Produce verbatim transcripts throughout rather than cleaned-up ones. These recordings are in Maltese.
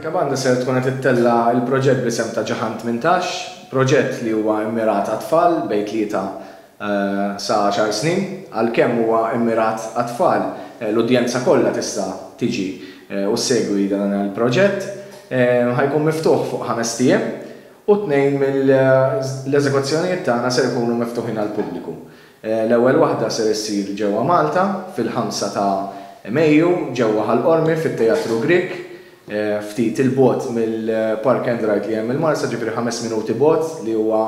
Tikka Banda ser tkun qed ittella' l-proġett bl-isem ta' Ġaħan tmintax, proġett li huwa immirat għat-tfal bejn tlieta sa għaxar snin. Għalkemm huwa immirat għat-tfal, l-udjenza kollha tista' tiġi u ssegwi dan il-proġett. Ħa jkun miftuħ fuq ħames ijiem u tnejn mill-eżekuzzjonijiet tagħna ser ikunu miftuħin għall-pubbliku. L-ewwel waħda ser issir ġewwa Malta fil-ħamsa ta' Mejju ġewwa Ħal Qormi fit-Teatru Grieg, ftit il-bogħod mill-Park and Ride li hemm il-Marsa, ġifieri ħames minuti bogħod, li huwa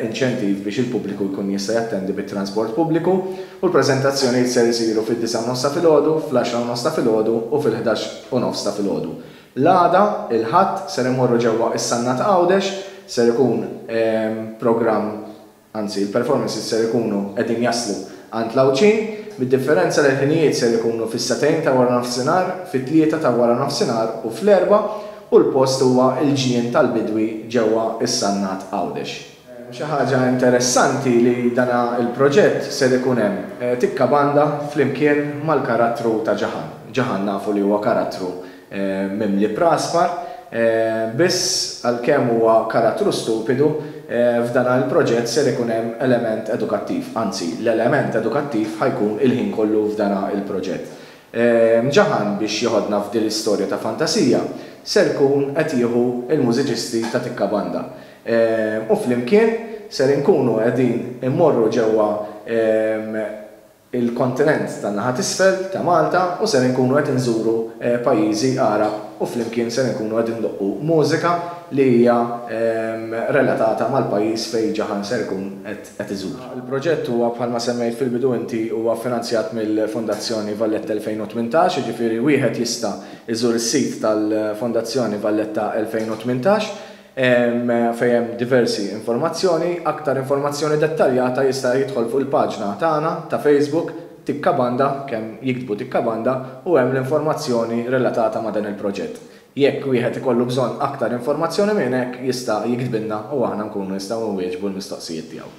inċentiv biex il-pubbliku jkun jista' jattendi bit-transport pubbliku. U l-preżentazzjonijiet ser isiru fid-disgħa u nofs ta' filgħodu, fl-għaxra u nofs ta' filgħodu u fil-ħdax u nofs ta' filgħodu. L-għada, il-Ħadd, ser imorru ġewwa is-Sannat Għawdex, ser ikun programm, anzi il-performances ser ikunu qegħdin jaslu għand l-Għawdxin, bid-differenza li l-ħinijiet ser ikunu fis-sagħtejn ta' wara nofsinhar, fit-tlieta ta' wara nofsinhar u fl-erbgħa, u l-post huwa l-Ġnien tal-Bidwi ġewwa is-Sannat Għawdex. Xi ħaġa interessanti li dana il-proġett ser ikun hemm Tikka Banda flimkien mal-karattru ta' Ġaħan. Ġaħan nafu li huwa karattru mimli praspar, biss għalkemm huwa karattru stupidu, f'dan il-proġett ser ikun hemm element edukattiv, anzi l-element edukattiv ħa jkun il-ħin kollu f'dan il-proġett. Ġaħan, biex joħodna f'din l-istorja ta' fantasija, ser ikun qed jieħu il-mużiċisti ta' Tikka Banda. U flimkien ser inkunu qegħdin immorru ġewwa il-kontinent tan-naħa t'isfel ta' Malta u ser inkunu qed inżuru pajjiżi Għarab u flimkien ser inkunu qed indoqqu mużika li hija relatata mal-pajjiż fejn Ġaħan ser ikun qed iżur. Il-proġett huwa, bħalma semmejt fil-bidu inti, huwa finanzjat mill-Fondazzjoni Valletta elfejn u tmintax, jiġifieri wieħed jista' iżur is-sit tal-Fondazzjoni Valletta elfejn u tmintax fejn hemm diversi informazzjoni. Aktar informazzjoni dettaljata jista' jidħol fuq il-paġna tagħna ta' Facebook Tikka Banda, kemm jiktbu Tikka Banda u hemm l-informazzjoni relatata ma' dan il-proġett. Jekk wieħed ikollu bżonn aktar informazzjoni minn hekk, jista' jiktbilna u aħna nkunu nistgħu nwieġbu l-mistoqsijiet tiegħu.